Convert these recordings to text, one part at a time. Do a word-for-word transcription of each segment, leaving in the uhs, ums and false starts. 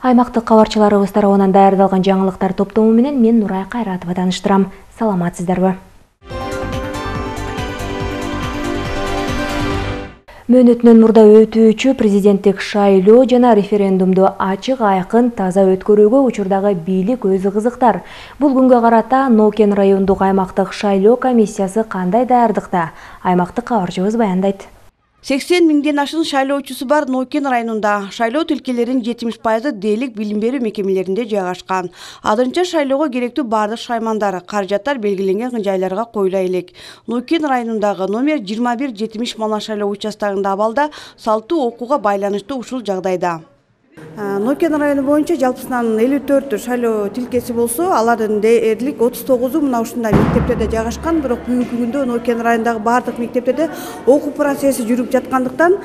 Аймактык кабарчыларыбыз тарабынан даярдалган жаңылыктар топтому менен мен Нурай Кайратова тааныштырам. Саламатсыздарбы? Мөөнөтүнөн мурда өтүүчү президенттик шайлоо жана референдумду ачык, айкын, таза өткөрүүгө учурдагы бийлик өзү кызыктар. Бул күнгө карата Нокен райондук аймактык шайлоо комиссиясы кандай даярдыкта? Аймактык кабарчыбыз баяндайт. сексен миңден ашын шайлоочусу бар Нокен районунда шайлоо тилкелеринин жетимиш пайызы дээлик билим берүү мекемелеринде жайгашкан. Азырынча шайлоого керектүү бардык шаймандар, каражаттар белгиленген жайларга коюла элек. Нокен районундагы номер жыйырма бир жетимиш мана шайлоо участогунда абалда салттуу окууга байланыштуу ушул жагдайда. Нокен району боюнча жалпысынан элүү төрт шайлоо тилкеси болсо, алардын дээрлик отуз тогузу мына ушундай мектептерде жайгашкан. Бирок бүгүнкү күндө Нокен районундагы бардык мектептерде окуу процесси жүрүп жаткандыктан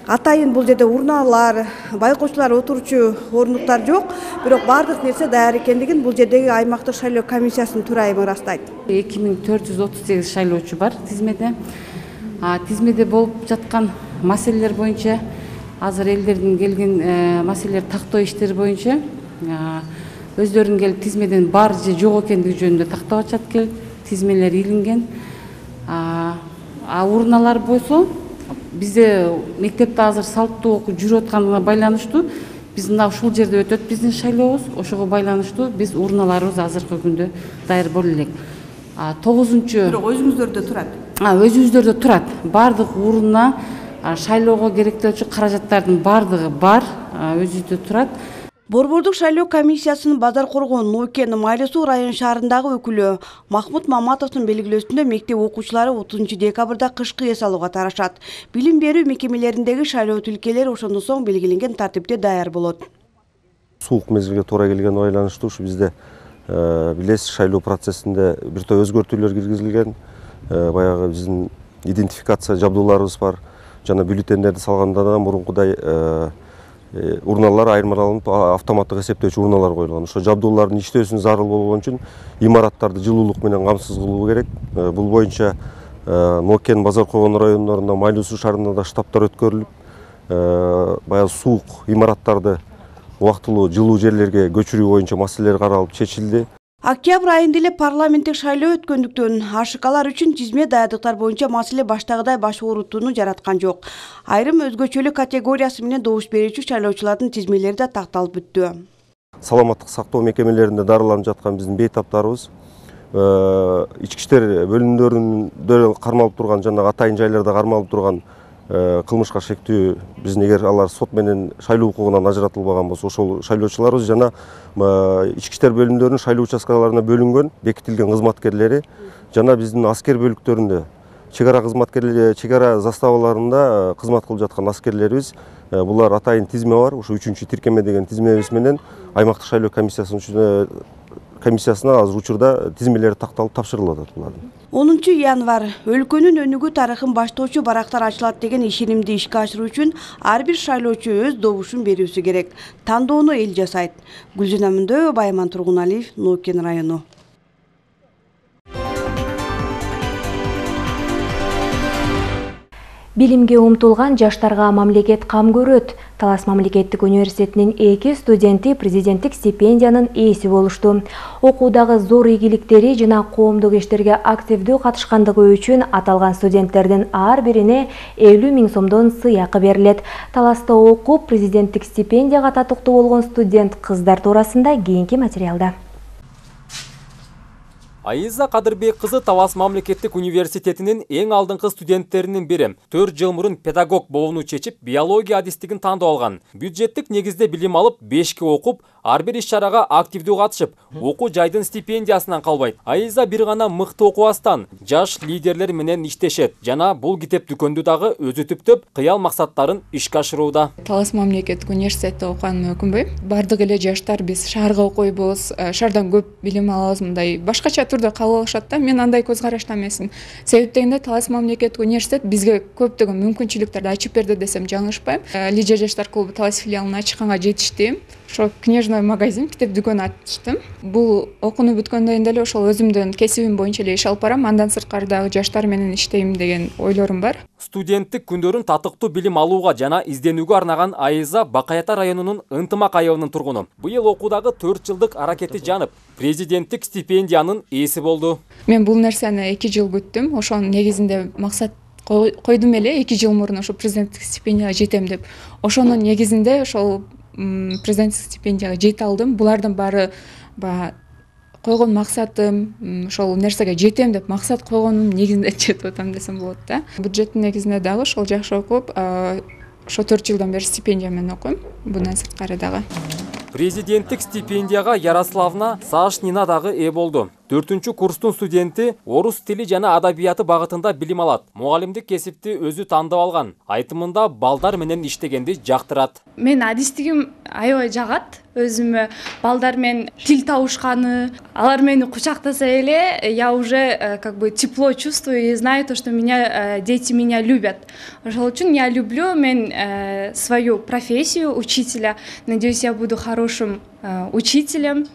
атайын бул жерде урналар, байкоочулар отурчу орнуктар жок. Бирок бардык нерсе даяр экендигин бул жердеги аймактык шайлоо комиссиясынын төрайымы ырастайт. эки миң төрт жүз отуз сегиз шайлоочу бар тизмеде. Тизмеде болуп жаткан маселелер боюнча азыр элдердин келген маселелер тактоо иштери боюнча өздөрүнүн келип тизмеден бар же жок экендиги жөнүндө тактап атышат, келип тизмелер илинген. А урналар болсо бизде мектепте азыр салттуу окуу жүрүп атканына байланыштуу биз мына ушул жерде өтөт биздин шайлообуз, ошого байланыштуу биз урналарыбыз азыркы күндө даяр боло элек. тогузунчу Бирок өзүңүздөрдө турат. Өзүбүздөрдө турат. Бардык урна шайлоого керектелчү каражаттардын бардыгы бар, өзүдө турат. Борбордук шайлоо комиссиясынын Базар Коргон, Нокен, Майлы Суу район шаарындагы өкүлү Махмут Маматовдун белгилөөсүндө мектеп окуучулары отузунчу декабрда кышкы эс алууга тарашат. Билим берүү мекемелериндеги шайлоо тилкелери ошондон соң белгиленген тартипте даяр болот. Суук мезгилге туура келгенине байланыштуу ушу бизде билесиз шайлоо процессинде бир топ өзгөртүүлөр киргизилген. Баягы биздин идентификация жабдууларыбыз бар. Жана бюллетендерди салгандан мурункудай урналар айырмаланып автоматтык эсептөөчү урналар коюлган. Ошо жабдуулардын иштөөсүнө зарыл болгон үчүн имараттарды жылуулук менен камсыз кылуу керек. Бул боюнча Нокен, Базар Коргон райондорунда, Майлы Суу шаарында да штабтар өткөрүлүп, баягы суук имараттарды убактылуу жылуу жерлерге көчүрүү боюнча маселелер каралып чечилди. Октябрь айында эле парламенттик шайлоо өткөндүктөн АШКлар үчүн тизме даярдыктар боюнча маселе баштагыдай баш оорутууну жараткан жок. Айрым өзгөчөлүк категориясы менен добуш берүүчү шайлоочулардын тизмелери да такталып бүттү. Саламаттык сактоо мекемелеринде дарыланып жаткан биздин бейтаптарыбыз ички иштер бөлүмдөрүндө кармалып турган жана атайын жайларда кармалып турган кылмышка шектүү биздин эгер алар сот менен шайлоо укугунан ажыратылбаган болсо ошол шайлоочуларыбыз жана ички иштер бөлүмдөрүнүн шайлоо участкаларына бөлүнгөн бекитилген кызматкерлери жана биздин аскер бөлүктөрүндө чек ара кызматкерлери, чек ара заставаларында кызмат кылып жаткан аскерлерибиз, булар атайын тизме бар. Ошо үчүнчү тиркеме деген тизмебиз менен аймактык шайлоо комиссиясынын комиссиясына азыр учурда тизмелери такталып тапшырылып атат булардын. онунчу январь өлкөнүн өнүгүү тарыхын баштоочу барактар ачылат деген ишенимди ишке ашыруу үчүн ар бир шайлоочу өз добушун берүүсү керек. Тандоону эл жасайт. Гүлжана Мөндөбү, Байман Тургуналиев, Нокен району. Билимге умтулган жаштарга мамлекет кам көрөт. Талас мамлекеттик университетинин эки студенти президенттик стипендиянын ээси болушту. Окуудагы зор ийгиликтери жана коомдук иштерге активдүү катышкандыгы үчүн аталган студенттердин ар бирине элүү миң сомдон сыйакы берилет. Таласта окуп президенттик стипендияга татыктуу болгон студент кыздар туурасында кийинки материалда. Айза Кадырбек кызы Талас мамлекеттик университетинин эң алдыңкы студенттеринин бири. төрт жыл мурун педагог болууну чечип, биология адистигин тандап алган. Бюджеттик негизде билим алып, бешке окуп, ар бир иш-чарага активдүү катышып, окуу жайдын стипендиясынан калбайт. Айза бир гана мыкты окубастан, жаш лидерлер менен иштешет жана бул китеп дүкөндү дагы өзү түптөп, кыял максаттарын ишке ашырууда. Талас мамлекеттик университетте окуганымды өкүнбөйм. Бардык эле жаштар биз шаарга окуйбуз, шаардан көп билим алабыз, мындай башкача турда кабыл алышат да. Мен андай көз карашта эмесмин. Себеп дегенде Талас мамлекеттик университет бизге көптөгөн мүмкүнчүлүктөрдү ачып берди десем жаңылышпайм. Лидер жаштар клубу Талас филиалын ачканга жетиштим. ошо книжный магазин, китеп дүкөн ачтым. Бул окууну бүткөндөн кийин деле ошол өзүмдүн кесибим боюнча эле иш алып барам. Андан сырткары дагы жаштар менен иштейм деген ойлорум бар. Студенттик күндөрүн татыктуу билим алууга жана изденүүгө арнаган Айза Бакай Ата районунун Ынтымак айылынын тургуну. Быйыл окуудагы төрт жылдык аракети жанып, президенттик стипендиянын ээси болду. Мен бул нерсени эки жыл күттүм. Ошонун негизинде максат койдум эле, эки жыл мурун ошо президенттик стипендияга жетем деп. Ошонун негизинде ошол президенттик стипендияга жете алдым. Булардын баары баягы койгон максатым, ошол нерсеге жетем деп максат койгонум негизинде жетип атам десем болот да. Бюджеттин негизинде дагы ошол жакшы окуп, ошо төрт жылдан бери стипендия менен окуйм. Bundan сырткары дагы. Президенттик стипендияга Ярославна Сашнина дагы ээ болду. төртүнчү курстун студенти орус тили жана адабияты багытында билим алат. Мугалимдик кесипти өзү тандап алган. Айтымында балдар менен иштегенди жактырат. Мен адистигим аябай жагат. Өзүмө балдар менен тил табышканы, алар мени кучактаса эле, я уже как бы тепло чувствую и знаю то, что меня дети меня любят. Ошол үчүн я люблю мен свою профессию учителя. Надеюсь, я буду хорошим учителем.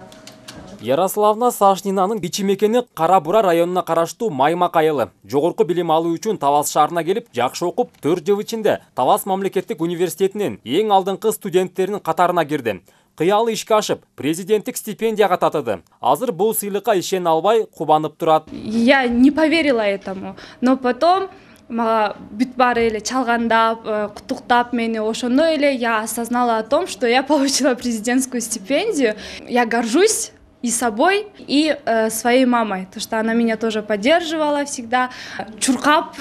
Ярославна Сашнинанын бичи мекени Кара Бура районуна караштуу Маймак айылы. Жогорку билим алуу үчүн Талас шаарына келип, жакшы окуп, төрт жыл ичинде Талас мамлекеттик университетинин эң алдыңкы студенттеринин катарына кирди. Кыялы ишке ашып, президенттик стипендияга татыды. Азыр бул сыйлыкка ишене албай кубанып турат. Я не поверила этому, но потом мага бүт баары эле чалгандап, куттуктап мени, ошондо эле я осознала о том, что я получила президентскую стипендию. Я горжусь и собой, и э, своей мамой, то что она меня тоже поддерживала всегда, чуркап,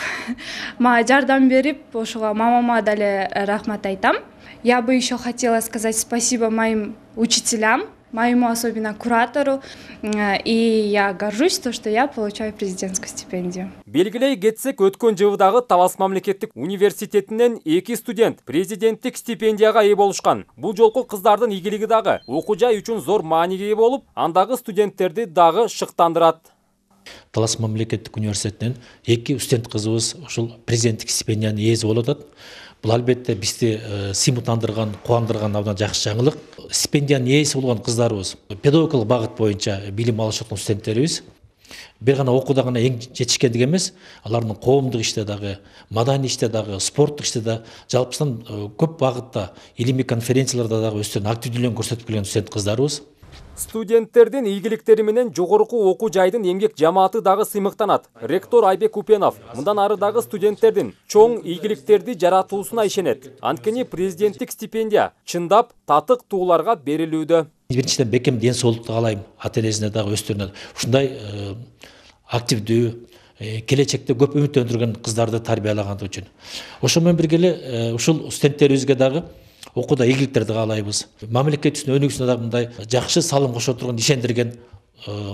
мага жардам берип, ошого мамама дале рахмат айтам. Я бы еще хотела сказать спасибо моим учителям, моему особенно куратору, и я горжусь, то, что я получаю президентскую стипендию. Белгилей кетсек, өткөн жылдагы Талас мамлекеттик университетинен эки студент президенттик стипендияга ээ болушкан. Бул жолку кыздардын ийгилиги дагы окуу жай үчүн зор мааниге ээ болуп, андагы студенттерди дагы шыктандырат. Талас мамлекеттик университетинен эки студент кызыбыз ушул президенттик стипендиянын ээси болуп атат. Бул албетте бизди сыймыктандырган, кубандырган абдан жакшы жаңылык. Стипендиянын ээси болгон кыздарыбыз педагогикалык багыт боюнча билим алышып аткан студенттерибиз. Бир гана окууда гана эң жетишкендик эмес, алардын коомдук иште дагы, маданий иште дагы, спорттук иште да, жалпысынан көп багытта, илимий конференцияларда дагы өздөрүнүн активдүүлүгүн көрсөтүп келген студент кыздарыбыз. Студенттердин ийгиликтери менен жогорку окуу жайдын эмгек жамааты дагы сыймыктанат. Ректор Айбек Купенов мындан ары дагы студенттердин чоң ийгиликтерди жаратуусуна ишенет. Анткени президенттик стипендия чындап татык тууларга берилүүдө. Биринчиден бекем ден соолукту каалайм ата энесине дагы өздөрүнө. Ушундай активдүү, келечекте көп үмүттөндүргөн кыздарды тарбиялагандыгы үчүн. Ошо менен бирге эле ушул студенттерибизге дагы окууда ийгиликтерди каалайбыз. Мамлекетибиздин өнүгүүсүнө дагы мындай жакшы салым кошо турган ишендирген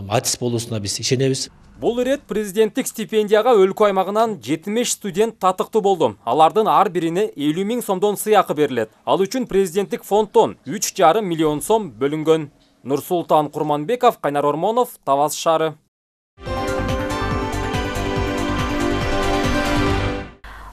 адис болуусуна биз ишенебиз. Бул ирет президенттик стипендияга өлкө аймагынан жетимиш студент татыктуу болду. Алардын ар бирине элүү миң сомдон сыйакы берилет. Ал үчүн президенттик фонддон үч жарым миллион сом бөлүнгөн. Нурсултан Курманбеков, Кайнар Ормонов, Талас шаары.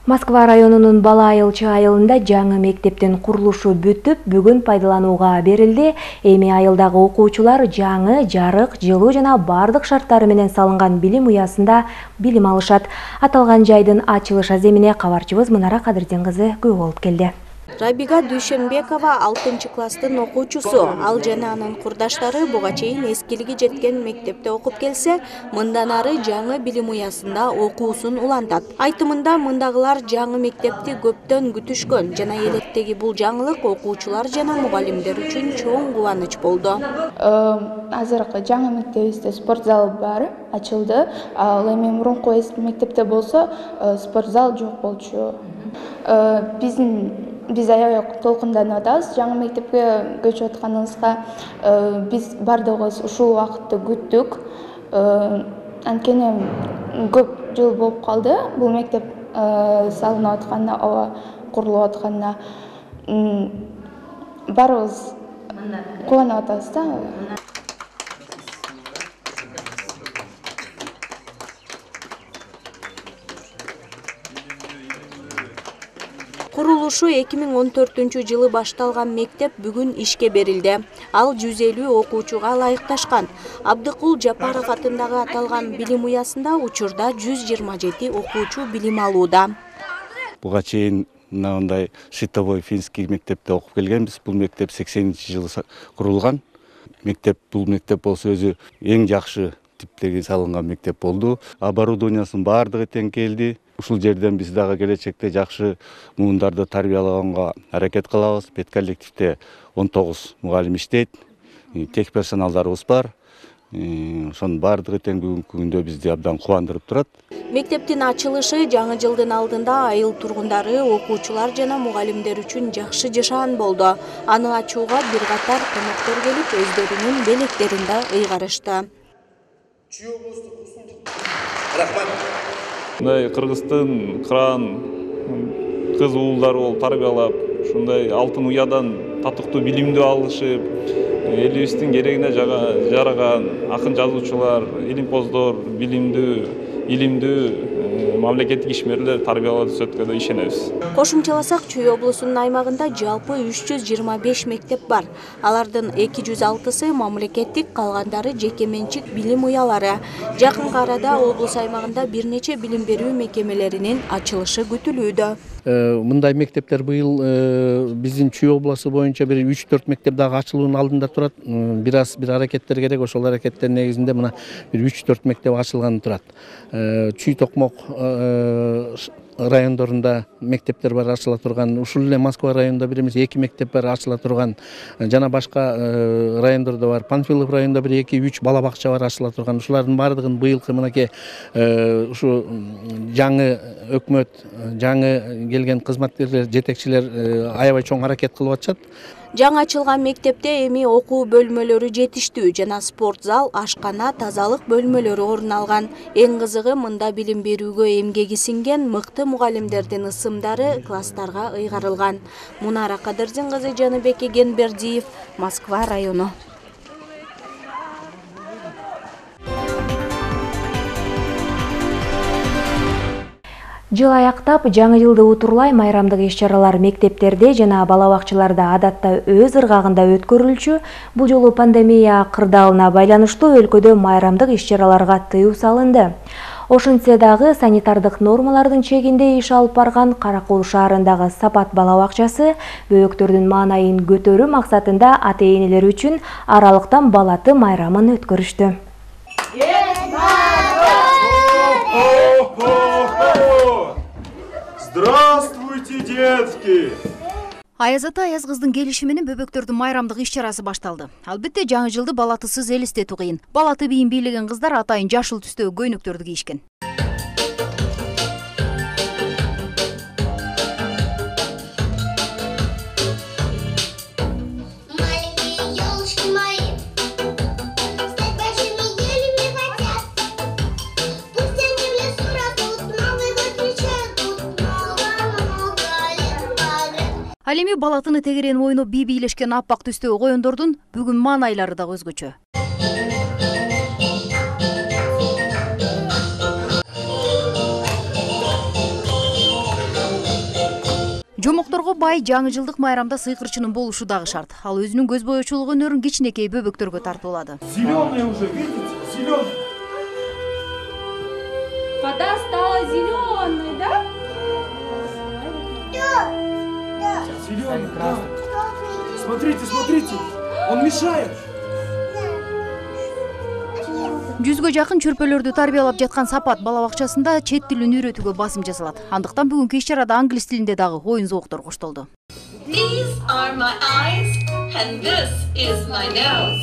Москва районунун Бала Айылчы айылында жаңы мектептин курулушу бүтүп, бүгүн пайдаланууга берилди. Эми айылдагы окуучулар жаңы, жарык, жылуу жана бардык шарттары менен салынган билим уясында билим алышат. Аталган жайдын ачылыш аземине кабарчыбыз Мунара Кадырдин кызы күбө болуп келди. Рабига Дүйшенбекова алтынчы класстын окуучусу. Ал жана анын курдаштары буга чейин эскилиги жеткен мектепте окуп келсе, мындан ары жаңы билим уясында окуусун улантат. Айтымында мындагылар жаңы мектепти көптөн күтүшкөн жана электеги бул жаңылык окуучулар жана мугалимдер үчүн чоң кубаныч болду. Азыркы жаңы мектебибизде спорт зал бар, ачылды. Ал эми мурунку мектепте болсо спорт зал жок болчу. Биздин Биз аябай толкунданып атабыз. Жаңы мектепке көчүп атканыбызга биз бардыгыбыз ушул убакытты күттүк. Анткени көп жыл болуп калды бул мектеп салынып атканына, ооба, курулуп атканына. Баарыбыз кубанып атабыз да. Курулушу эки миң он төртүнчү жылы башталган мектеп бүгүн ишке берилди. Ал жүз элүү окуучуга ылайыкташкан. Абдыкул Жапаров атындагы аталган билим уясында учурда жүз жыйырма жети окуучу билим алууда. Буга чейин мындай Шитовой финский мектепте окуп келгенбиз. Бул мектеп сексенинчи жылы курулган. Мектеп бул мектеп болсо өзү эң жакшы типтеги салынган мектеп болду. Оборудованиясынын баардыгы тең келди. Ушул жерден биз дагы келечекте жакшы муундарды тарбиялаганга аракет кылабыз. Бет коллективде он тогуз мугалим иштейт. Тех персоналдарыбыз бар. Ошонун баардыгы тең бүгүнкү күндө бизди абдан кубандырып турат. Мектептин ачылышы жаңы жылдын алдында айыл тургундары, окуучулар жана мугалимдер үчүн жакшы жашаан болду. Аны ачууга бир катар коноктор келип, өздөрүнүн белектерин да ыйгарышты. Мындай Кыргыздын кыран кыз уулдары болуп тарбиялап, ушундай алтын уядан татыктуу билимди алышып, элибиздин керегине жараган акын жазуучулар, илимпоздор, билимдүү, илимдүү мамлекеттик ишмерлер тарбиялап өткөндө ишенебиз. Кошумчаласак, Чүй облусунун аймагында жалпы үч жүз жыйырма беш мектеп бар. Алардын эки жүз алтысы мамлекеттик, калгандары жеке менчик билим уялары. Жакынкы арада облус аймагында бир нече билим берүү мекемелеринин ачылышы күтүлүүдө. Мындай мектептер быйыл биздин Чүй облусу боюнча бир үч төрт мектеп дагы ачылуунун алдында турат. Бир аз бир аракеттер керек. Ошол аракеттер негизинде мына бир үч төрт мектеп ачылганы турат. Чүй Токмок райондорунда мектептер бар ачыла турган. Ушул эле Москва районунда бир эмес эки мектеп бар ачыла турган. Жана башка райондордо бар. Панфилов районунда бир эки үч бала бакча бар ачыла турган. Ушулардын баардыгын быйылкы мынакей ушу жаңы өкмөт, жаңы келген кызматкерлер, жетекчилер аябай чоң аракет кылып атышат. Жаңы ачылган мектепте эми окуу бөлмөлөрү жетиштүү жана спорт зал, ашкана, тазалык бөлмөлөрү орун алган. Эң кызыгы, мында билим берүүгө эмгеги сиңген мыкты мугалимдердин ысымдары класстарга ыйгарылган. Мунара Кадырдин кызы, Жаныбек Эгенбердиев, Москва району. Жыл аяктап, жаңы жылды утурлай майрамдык иш-чаралар мектептерде жана бала бакчаларда адатта өз ыргагында өткөрүлчү. Бул жолу пандемия кырдаалына байланыштуу өлкөдө майрамдык иш-чараларга тыюу салынды. Ошентсе дагы санитардык нормалардын чегинде иш алып барган Каракол шаарындагы Сапат бала бакчасы бөбөктөрдүн маанайын көтөрүү максатында ата-энелер үчүн аралыктан балаты майрамын өткөрүштү. Здравствуйте, детки! Аяз ата, Аяз кыздын келиши менен бөбөктөрдүн майрамдык иш-чарасы башталды. Албетте жаңы жылды балатысыз элестетүү кыйын. Балаты бийин бийлеген кыздар атайын жашыл түстөгү көйнөктөрдү кийишкен. Ал эми балатыны тегерен ойноп бий бийлешкен аппак түстөгү коёндордун бүгүн маанайлары да өзгөчө. Жомокторго бай жаңы жылдык майрамда сыйкырчынын болушу дагы шарт. Ал өзүнүн көз боечулук өнөрүн кичинекей бөбөктөргө тартуулады. Зеленый уже, видите? Зеленый. Вода стала зеленой, да? Зеленый, да. Смотрите, смотрите, он мешает. Жүзгө жакын чөрпөлөрдү тарбиялап жаткан Сапат бала бакчасында чет тилин үйрөтүүгө басым жасалат. Андыктан бүгүнкү иш-чарада англис тилинде дагы оюн зооктору коштолду. These are my eyes and this is my nose.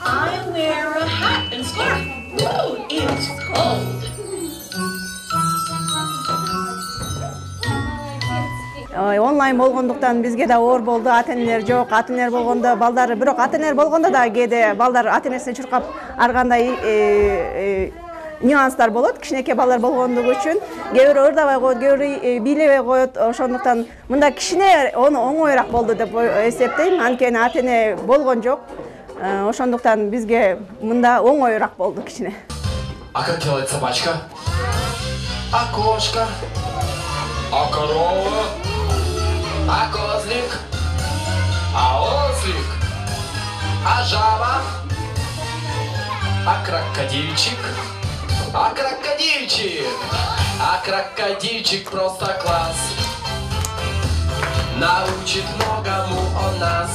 I wear a hat and scarf. Woo, it's cold. Онлайн болгондуктан бизге да оор болду. Ата-энелер жок, ата-энелер болгондо балдары, бирок ата-энелер болгондо да кээде балдар ата-энесине чуркап ар кандай нюанстар болот. Кичинекей балдар болгондугу үчүн кээ бирөө ырдабай коет, кээ бирөө бийлебей коет. Ошондуктан мында кичине оңоюраак болду деп эсептейм. Анткени ата-эне болгон жок. Ошондуктан бизге мында оңоюраак болду кичине. А как делает собачка? А кошка? А корова? а козлик, а ослик, а жаба, а крокодильчик, а крокодильчик, а крокодильчик просто класс. Научит многому он нас.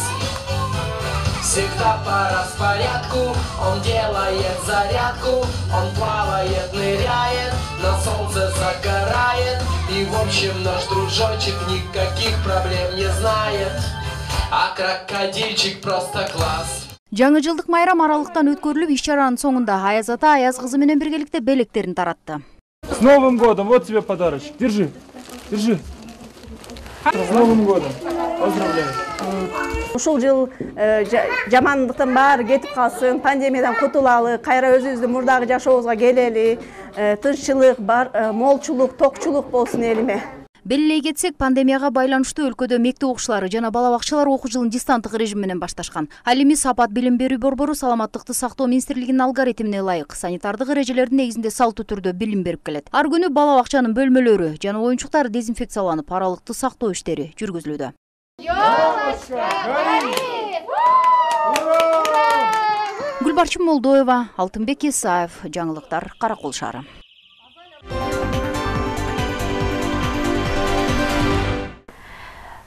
Всегда по распорядку, он делает зарядку, он плавает, ныряет, на солнце загорает. И в общем наш дружочек никаких проблем не знает, а крокодильчик просто класс. Жаңы жылдык майрам аралыктан өткөрүлүп, иш-чаранын соңунда Аяз ата Аяз кызы менен биргеликте белектерин таратты. С Новым годом! Вот тебе подарочек. Держи, держи. С Новым годом! Поздравляю! Ушул жыл жамандыктын баары кетип калсын, пандемиядан кутулалы, кайра өзүбүздүн мурдагы жашообузга келели, тынччылык, молчулук, токчулук болсун элиме. Белгилей кетсек, пандемияга байланыштуу өлкөдө мектеп окуучулары жана бала бакчалар окуу жылын дистанттык режим менен башташкан. Ал эми Сапат билим берүү борбору саламаттыкты сактоо министрлигинин алгоритмине ылайык санитардык эрежелердин негизинде салттуу түрдө билим берип келет. Ар күнү бала бакчанын бөлмөлөрү жана оюнчуктар дезинфекцияланып, аралыкты сактоо иштери жүргүзүлүүдө. Гүлбарчын Молдоева, Алтынбек Исаев, жаңылыктар, Каракол шаары.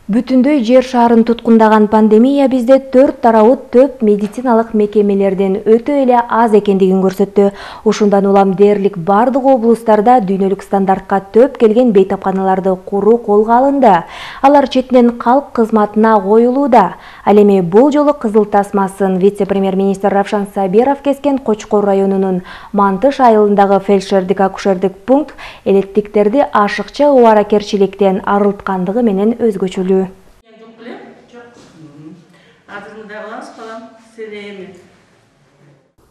Бүтүндөй жер шарын туткундаган пандемия бизде төрт тарабы төп медициналык мекемелерден өтө эле аз экендигин көрсөттү. Ушундан улам дээрлик бардык облустарда дүйнөлүк стандартка төп келген бейтапканаларды куруу колго алынды. Алар четинен калк кызматына коюлууда. Ал эми бул жолу кызыл тасмасын вице-премьер-министр Равшан Сабиров кескен Кочкор районунун Мантыш айылындагы фельдшердик-акушердик пункт элеттиктерди ашыкча убаракерчиликтен арылткандыгы менен өзгөчөлүү.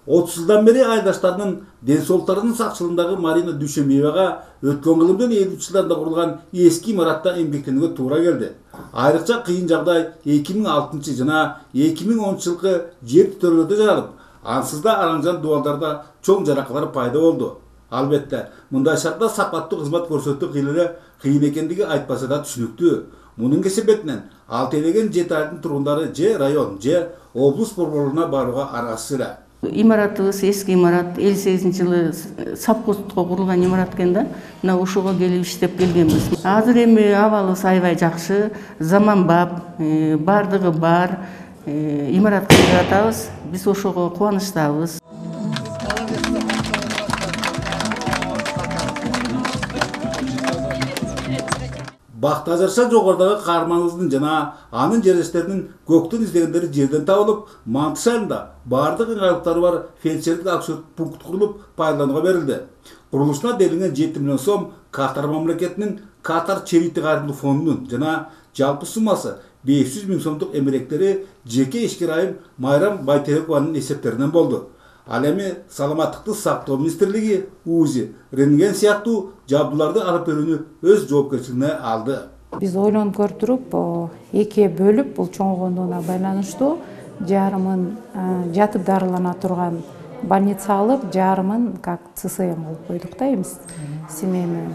отуз жылдан бери айдаштардын ден соолуктарынын сакчылыгындагы Марина Дүйшөмбиевага өткөн кылымдын элүүнчү жылдарында курулган эски имаратта эмгектенүүгө туура келди. Айрыкча кыйын жагдай эки миң алтынчы жана эки миң онунчу жылкы жер титөөлөрдө жаралып, ансыз да араң-жан дубалдарда чоң жаракалар пайда болду. Албетте, мындай шартта сапаттуу кызмат көрсөтүү кыйын кыйын экендиги айтпаса да түшүнүктүү. Мунун кесепетинен алты элеген жети айылдын тургундары же район, же облус борборлоруна барууга аргасыз эле. Имаратыбыз эски имарат, элүү сегизинчи жылы совхозго курулган имарат экен да. Мына ушуга келип иштеп келгенбиз. Азыр эми абалыбыз аябай жакшы, заманбап, бардыгы бар имаратка жатабыз. Биз ошого кубанычтабыз. Бакта жарша жогорудагы каарманыбыздын жана анын жерлештеринин көктөн издегендери жерден табылып, Мантыш айылында бардык ыңгайлыктары бар фельдшердик акушерлик пункт курулуп пайдаланууга берилди. Курулушуна делинген жети миллион сом Катар мамлекетинин Катар Черити кайрымдуулук фондунун жана жалпы суммасы беш жүз миң сомдук эмеректери жеке ишкер айым Майрам Байтебекованын эсептеринен болду. Ал эми саламаттыкты сактоо министрлиги УЗИ, рентген сыяктуу жабдууларды алып берүүнү өз жоопкерчилигине алды. Биз ойлонуп көрүп, экиге бөлүп, бул чоңойгондугуна байланыштуу жарымын жатып дарылана турган больница алып, жарымын как ЦСМ кылып койдук да, эмес семейный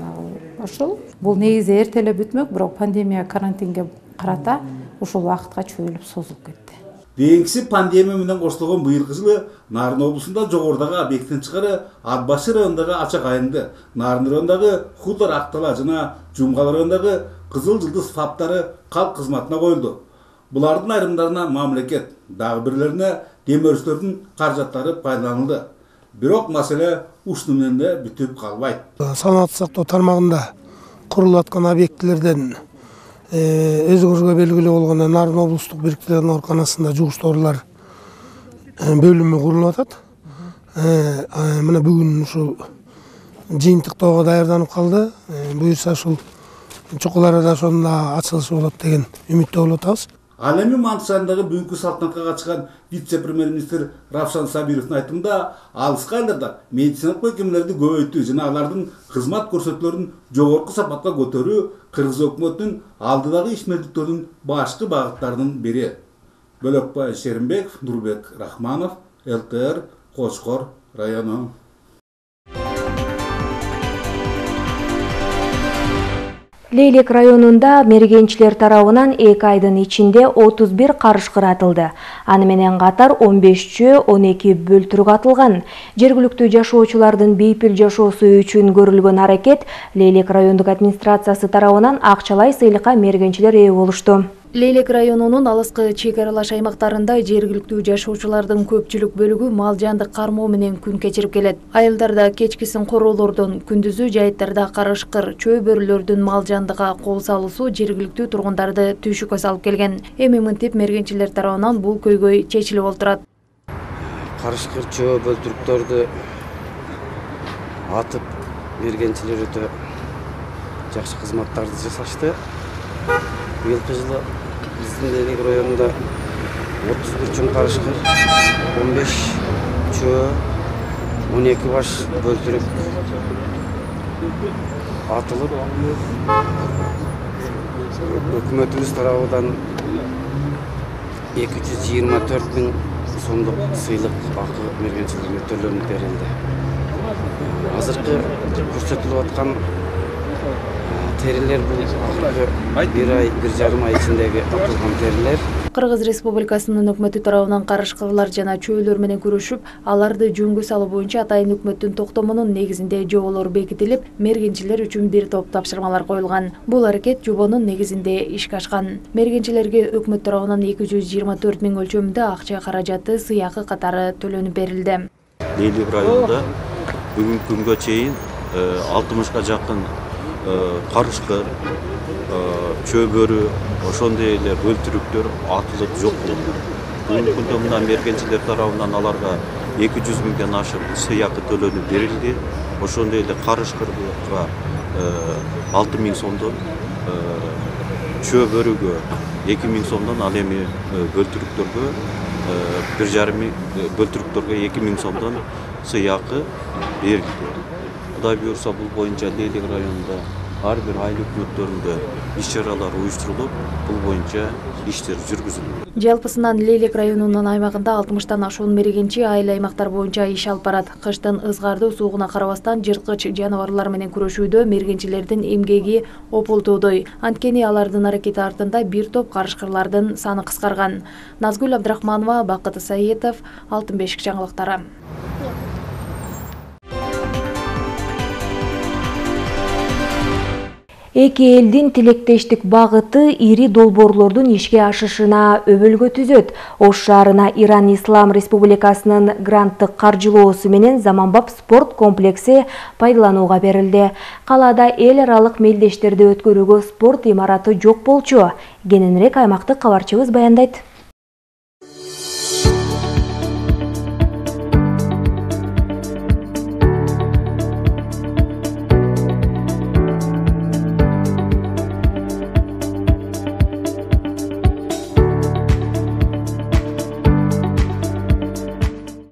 ошол. Бул негизи эрте эле бүтмөк, бирок пандемия карантинге карата ушул убакытка чөйүлүп созулуп кетти. Кийинкиси пандемия менен коштолгон быйылкы жылы Нарын облусунда жогорудагы объекттин чыгары Атбашы районундагы Ачак айылында, Нарын районундагы Хутор Актала жана Жумгал районундагы Кызыл Жылдыз фаптары калк кызматына коюлду. Булардын айрымдарына мамлекет, дагы бирлерине демөөрчүлөрдүн каражаттары пайдаланылды. Бирок маселе ушуну менен да бүтүп калбайт. Саламаттык сактоо тармагында курулуп аткан объектлерден өзүңүзгө белгилүү болгондой Нарын облустук бириктирген ооруканасында жугушторлор бөлүмү курулуп атат. Мына бүгүн ушул жыйынтыктоого даярданып калды. Буюрса ушул чукул арада ошонун ачылышы болот деген үмүттө болуп атабыз. Ал эми Мантыш айылындагы бүгүнкү салтанатка катышкан вице-премьер-министр Равшан Сабировдун айтымында, алыскы айылдарда медициналык мекемелерди көбөйтүү жана алардын кызмат көрсөтүүлөрүн жогорку сапатка көтөрүү Кыргыз өкмөтүнүн алдыдагы ишмердиктөрүнүн башкы багыттарынын бири. Бөлөкбай Шеримбеков, Нурбек Рахманов, ЛТР, Кочкор району. Лейлек районунда мергенчилер тарабынан эки айдын ичинде отуз бир карышкыр атылды. Аны менен катар он беш чөө, он эки бөлтүрүк атылган. Жергиликтүү жашоочулардын бейпил жашоосу үчүн көрүлгөн аракет Лейлек райондук администрациясы тарабынан акчалай сыйлыкка мергенчилер ээ болушту. Лейлек районунун алыскы чек аралаш аймактарында жергиликтүү жашоочулардын көпчүлүк бөлүгү мал жандык кармоо менен күн кечирип келет. Айылдарда кечкисин короолордон, күндүзү жайыттарда карышкыр, чөө бөрүлөрдүн мал жандыга кол салуусу жергиликтүү тургундарды түйшүккө салып келген. Эми мынтип мергенчилер тарабынан бул көйгөй чечилип олтурат. Карышкыр, чөө бөлтүрүктөрдү атып мергенчилер өтө жакшы кызматтарды жасашты. Быйылкы жылы биздин Лейлек районунда отуз бир чоң карышкыр, он беш чөө, он эки баш бөлтүрүк атылып, өкмөтүбүз тарабынан эки жүз жыйырма төрт миң сомдук сыйлык акы мергенчилерге төлөнүп берилди. Азыркы көрсөтүлүп аткан терилер бул акыркы бир ай, бир жарым ай ичиндеги атылган терилер. Кыргыз Республикасынын өкмөтү тарабынан карышкырлар жана чөөлөр менен күрөшүп, аларды жөнгө салуу боюнча атайын өкмөттүн токтомунун негизинде жоболор бекитилип, мергенчилер үчүн бир топ тапшырмалар коюлган. Бул аракет жобонун негизинде ишке ашкан. Мергенчилерге өкмөт тарабынан эки жүз жыйырма төрт миң өлчөмүндө акча каражаты сыйакы катары төлөнүп берилди. Лейлек районунда бүгүнкү күнгө чейин алтымышка жакын карышкыр, чөбөрү, ошондой эле бөлтүрүктөр атылып жок болду. Бүгүнкү күндө мына мергенчилер тарабынан аларга эки жүз миңден ашык сыйакы төлөнүп берилди. Ошондой эле карышкырга алты миң сомдон, чөбөрүгө эки миң сомдон, ал эми бөлтүрүктөргө бир жарым миң, бөлтүрүктөргө эки миң сомдон сыйакы берилди. Кудай буюрса, бул боюнча Лейлек районунда ар бир айыл өкмөттөрүндө иш-чаралар уюштурулуп, бул боюнча иштер жүргүзүлөт. Жалпысынан Лейлек районунун аймагында алтымыштан ашуун мергенчи айыл аймактар боюнча иш алып барат. Кыштын ызгардуу суугуна карабастан жырткыч жаныбарлар менен күрөшүүдө мергенчилердин эмгеги ополтоодой. Анткени алардын аракети артында бир топ карышкырлардын саны кыскарган. Назгүл Абдрахманова, Бакыт Саетов, Алтын бешик жаңылыктары. Эки элдин тилектештик багыты ири долбоорлордун ишке ашышына өбөлгө түзөт. Ош шаарына Иран Ислам Республикасынын гранттык каржылоосу менен заманбап спорт комплекси пайдаланууга берилди. Калаада эл аралык мелдештерди өткөрүүгө спорт имараты жок болчу. Кененирээк аймактык кабарчыбыз баяндайт.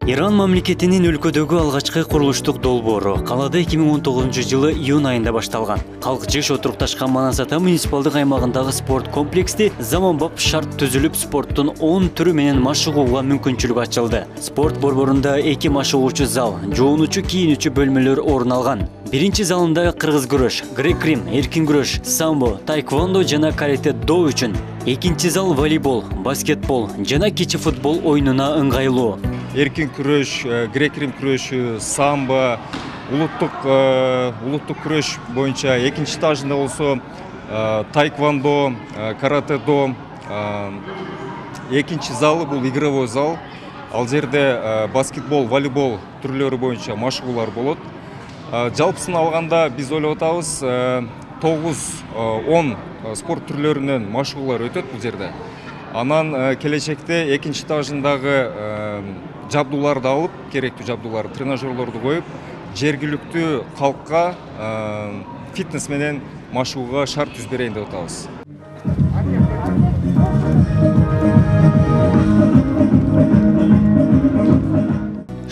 Иран мамлекетинин өлкөдөгү алгачкы курулуштук долбоору калаада эки миң он тогузунчу жылы июнь айында башталган. Калк жеш отурукташкан Манас ата муниципалдык аймагындагы спорт комплексти заманбап шарт түзүлүп, спорттун он түрү менен машыгууга мүмкүнчүлүк ачылды. Спорт борборунда эки машыгуучу зал, жуунуучу, кийинүүчү бөлмөлөр орун алган. Биринчи залында кыргыз күрөш, грек-рим, эркин күрөш, самбо, тайквондо жана карате до үчүн. Экинчи зал волейбол, баскетбол жана кичи футбол оюнуна ыңгайлуу. Эркин күрөш, грек-рим күрөшү, самбо, улуттук улуттук күрөш боюнча экинчи этажында болсо тайквондо, карате до. Экинчи залы бул игровой зал. Ал жерде баскетбол, волейбол түрлөрү боюнча машыгуулар болот. Жалпысын алганда биз ойлоп атабыз тогуз он спорт түрлөрүнөн машыгуулар өтөт бул жерде. Анан келечекте экинчи этажындагы жабдууларды алып, керектүү жабдууларды, тренажерлорду коюп, жергиликтүү калкка фитнес менен машыгууга шарт түзүп берейин деп атабыз.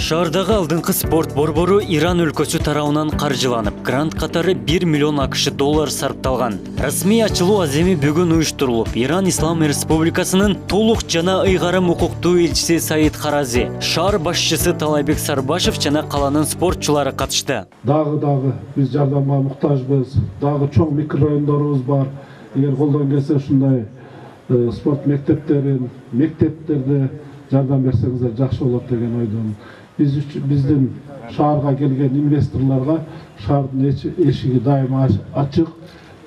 Шаардагы алдыңкы спорт борбору Иран өлкөсү тарабынан каржыланып, грант катары бир миллион акш доллар сарпталган. Расмий ачылуу аземи бүгүн уюштурулуп, Иран Ислам Республикасынын толук жана ыйгарым укуктуу элчиси Саид Харази, шаар башчысы Талайбек Сарбашев жана каланын спортчулары катышты. Дагы дагы биз жардамга муктажбыз. Дагы чоң микрорайондорубуз бар. Эгер колдон келсе ушундай спорт мектептерин, мектептерде жардам берсеңиздер жакшы болот деген ойдон. Биз биздин шаарга келген инвесторлорго шаардын эшиги дайыма ачык.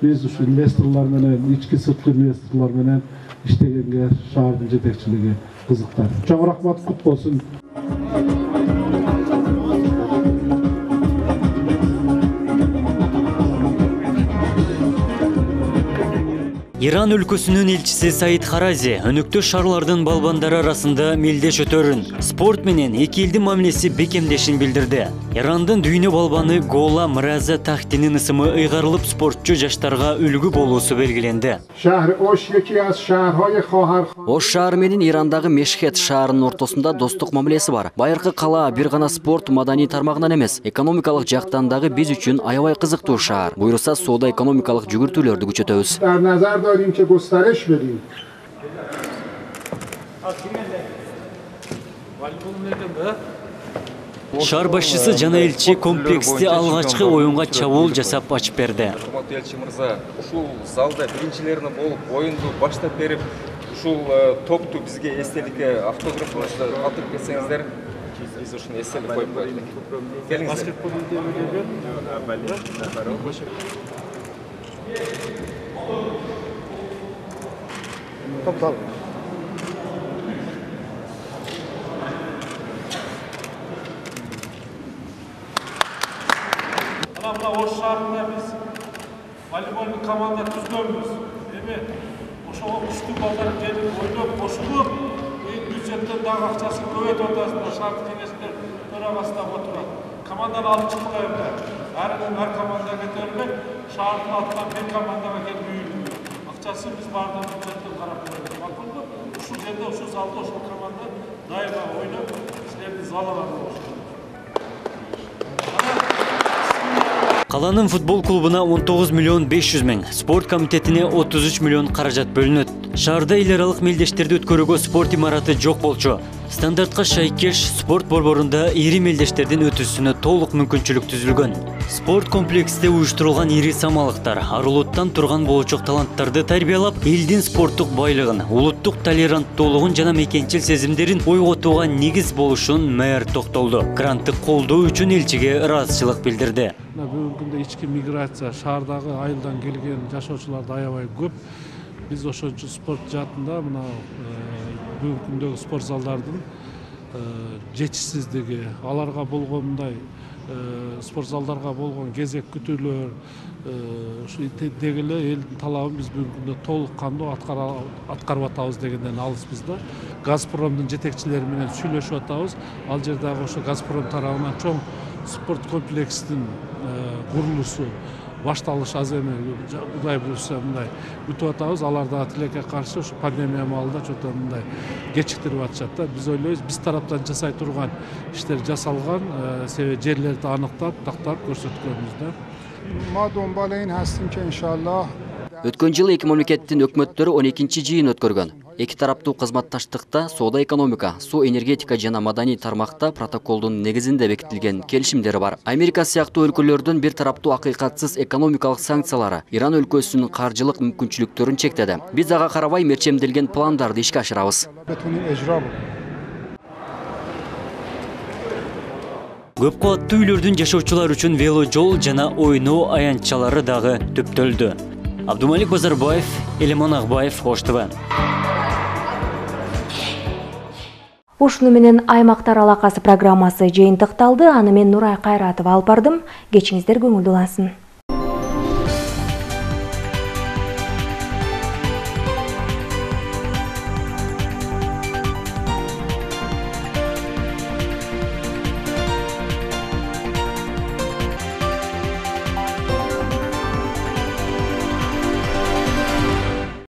Биз ушу инвесторлор менен, ички сырткы инвесторлор менен иштегенге шаардын жетекчилиги кызыктар. Чоң рахмат, кут болсун. Иран өлкөсүнүн элчиси Саид Харази өнөктөш шаарлардын балбандары арасында мелдеш өтөрүн, спорт менен эки элдин мамилеси бекемдешин билдирди. Ирандын дүйнө балбаны Гола Мраза Тахтинин ысымы ыйгарылып, спортчу жаштарга үлгү болуусу белгиленди. Ош шаары менен Ирандагы Мешхет шаарынын ортосунда достук мамилеси бар. Байыркы кала бир гана спорт маданий тармагынан эмес, экономикалык жактан дагы биз үчүн аябай кызыктуу шаар. Буйруса соода экономикалык жүгүртүүлөрдү күчөтөбүз. داریم که گسترش بدیم. Шаар башчысы жана элчи комплексти алгачкы оюнга чабуул жасап ачып берди. Урматтуу элчи мырза, ушул залда биринчилерине болуп, оюнду баштап берип, ушул топту бизге эстеликке автографыңызды калтырып кетсеңиздер, биз ушуну эстелик коюп коелу. Келиңиздер. Топтал. Мына Ош шаарында биз волейболдук команда түзгөнбүз. Эми ошого күчтүү балдар келип ойноп кошулуп, бюджеттен дагы акчасын көбөйтүп атасыздар. Шаардык кеңештер төрагасында отурат. Команданы алып чыкпайбы? Ар ар команда кетерлик, шаардын атынан бир командага келип үйүлдү. Акчасы биз бардык бюджеттен карап коебуз. Макулбу? Ушул жерде, ушул залда ошол команда дайыма ойноп, силердин залга болушат. Каланын футбол клубуна он тогуз миллион беш жүз миң, спорт комитетине отуз үч миллион каражат бөлүнөт. Шаарда эл аралык мелдештерди өткөрүүгө спорт имараты жок болчу. Стандартка шайкеш спорт борборунда ири мелдештердин өтүүсүнө толук мүмкүнчүлүк түзүлгөн. Спорт комплексте уюштурулган ири самалыктар арулуттан турган болочок таланттарды тарбиялап, элдин спорттук байлыгын, улуттук толеранттуулугун жана мекенчил сезимдерин ойготууга негиз болушун мэр токтолду. Грантты колдоо үчүн элчиге ыраазычылык билдирди. Бүгүнкү күндө ички миграция, шаардагы айылдан келген жашоочулар аябай көп. Биз ошончу спорт жаатында мына бүгүнкү күндөгү спорт залдардын жетишсиздиги, аларга болгон мындай спорт залдарга болгон кезек күтүүлөр, ушу деги эле элдин талабын биз бүгүнкү күндө толук кандуу аткарып атабыз дегенден алыспыз да. Газпромдун жетекчилери менен сүйлөшүп атабыз. Ал жердагы ошо Газпром тарабынан чоң спорт комплексинин курулуусу башталыш аз эми Кудай буюрса мындай күтүп атабыз. Алар дагы тилекке каршы ушу пандемия маалында чоң мындай кечиктирип атышат да. Биз ойлойбуз, биз тараптан жасай турган иштер жасалган, себеби жерлерди аныктап, тактап көрсөткөнбүз да. ما دنبال این هستیم که انشالله Өткөн жылы эки мамлекеттин өкмөттөрү он экинчи жыйын өткөргөн. Эки тараптуу кызматташтыкта соода экономика, суу энергетика жана маданий тармакта протоколдун негизинде бекитилген келишимдери бар. Америка сыяктуу өлкөлөрдүн бир тараптуу акыйкатсыз экономикалык санкциялары Иран өлкөсүнүн каржылык мүмкүнчүлүктөрүн чектеди. Биз ага карабай мерчемделген пландарды ишке ашырабыз. Көп кабаттуу үйлөрдүн жашоочулар үчүн вело жол жана ойноо аянтчалары дагы төптөлдү. Абдумалик Базарбаев, Элеман Акбаев, Ош ТВ. Ушуну менен аймактар алакасы программасы жыйынтыкталды. Аны мен Нурай Кайратова алып бардым. Кечиңиздер көңүлдүү болсун.